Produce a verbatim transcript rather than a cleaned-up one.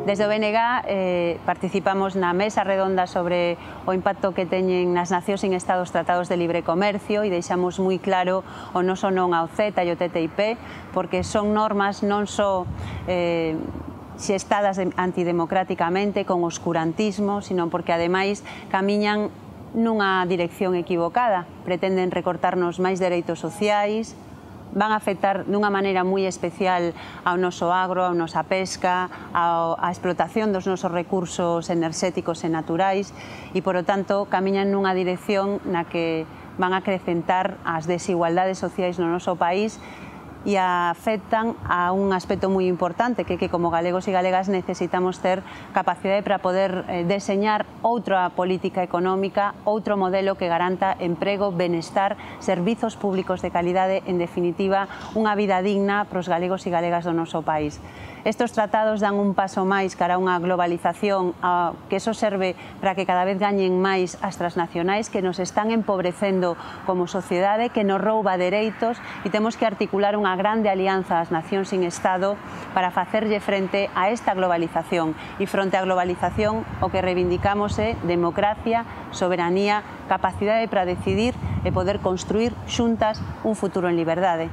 Desde o B N G eh, participamos na mesa redonda sobre o impacto que teñen nas nacións sin Estado os tratados de libre comercio e deixamos moi claro o noso non ao CETA e o T T I P, porque son normas non só eh, xestadas antidemocráticamente, con oscurantismo, sino porque ademais camiñan nunha dirección equivocada, pretenden recortarnos máis dereitos sociais, van a afectar dunha maneira moi especial ao noso agro, a nosa pesca, á explotación dos nosos recursos enerxéticos e naturais e, polo tanto, camiñan nunha dirección na que van a acrecentar as desigualdades sociais no noso país e afectan a un aspecto moi importante, que, que como galegos e galegas necesitamos ter capacidade para poder eh, deseñar outra política económica, outro modelo que garanta emprego, benestar, servizos públicos de calidade, en definitiva, unha vida digna para os galegos e galegas do noso país. Estes tratados dan un paso máis cara a unha globalización, a, que eso serve para que cada vez gañen máis as transnacionais que nos están empobrecendo como sociedade, que nos rouba dereitos e temos que articular unha grande alianza ás nacións sin Estado para facerlle frente a esta globalización. E fronte á globalización o que reivindicamos é democracia, soberanía, capacidade para decidir e poder construir xuntas un futuro en liberdade.